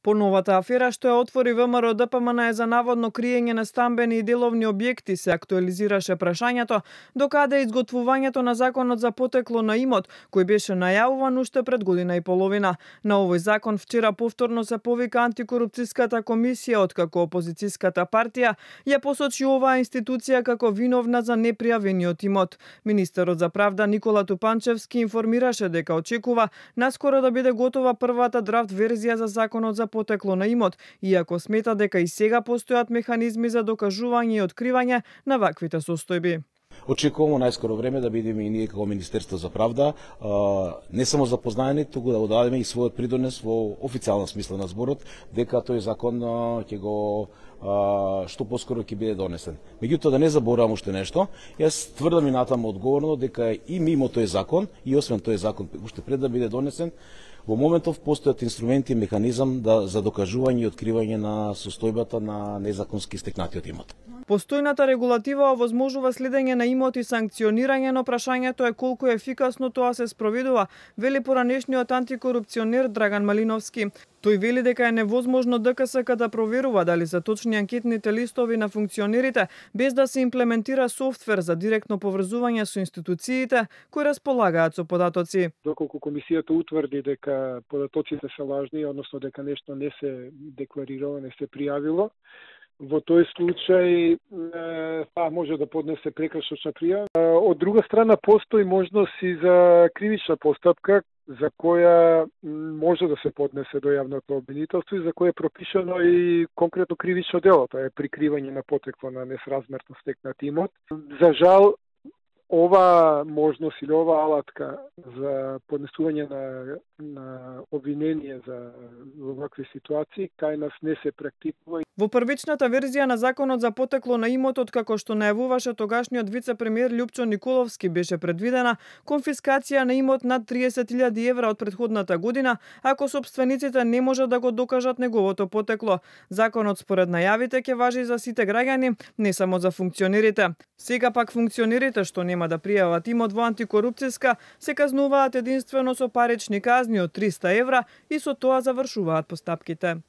По новата афера што ја отвори ВМРО ДПМН за наводно криење на стамбени и деловни објекти се актуализираше прашањето докаде изготвувањето на законот за потекло на имот, кој беше најавуван уште пред година и половина. На овој закон вчера повторно се повика антикорупцијската комисија, откако опозицијската партија ја посочи оваа институција како виновна за непријавениот имот. Министерот за правда Никола Тупанчевски информираше дека очекува наскоро да биде готова првата драфт верзија за законот за потекло на имот, иако смета дека и сега постојат механизми за докажување и откривање на ваквите состојби. Очекуваме најскоро време да бидеме и ние како Министерство за правда не само запознаени, туку да дадеме и својот придонес во официјална смисла на зборот, дека тој закон ќе го што поскоро ќе биде донесен. Меѓутоа да не заборавам уште нешто, јас тврдам и натаму одговорно дека и мимо тој закон и освен тој закон уште пред да биде донесен, во моментов постојат инструменти и механизам за докажување и откривање на состојбата на незаконски стекнатиот имот. Постојната регулатива овозможува следење на имот и санкционирање, но прашањето е колку ефикасно тоа се спроведува, вели поранешниот антикорупционер Драган Малиновски. Тој вели дека е невозможно ДКСК да проверува дали се точни анкетните листови на функционерите, без да се имплементира софтвер за директно поврзување со институциите кои располагаат со податоци. Доколку комисијата утврди дека податоците се лажни, односно дека нешто не се декларирало, не се пријавило, во тој случај може да поднесе прекршочна пријава. Од друга страна постои можност и за кривична постапка за која може да се поднесе до јавното обвинителство и за која е пропишано и конкретно кривично дело, тоа е прикривање на потекло на несразмерно стекнат имот. За жал, ова можност или ова алатка за поднесување на обвинение за вакви ситуации кај нас не се практикува. Во првичната верзија на законот за потекло на имотот, како што најавуваше тогашниот вице-премиер Љупчо Николовски, беше предвидена конфискација на имот над 30.000 евра од претходната година, ако сопствениците не можат да го докажат неговото потекло. Законот според најавите ќе важи за сите граѓани, не само за функционерите. Сега пак функционерите што нема да пријават имот во антикорупцијска се казнуваат единствено со парични казни од 300 евра и со тоа завршуваат постапките.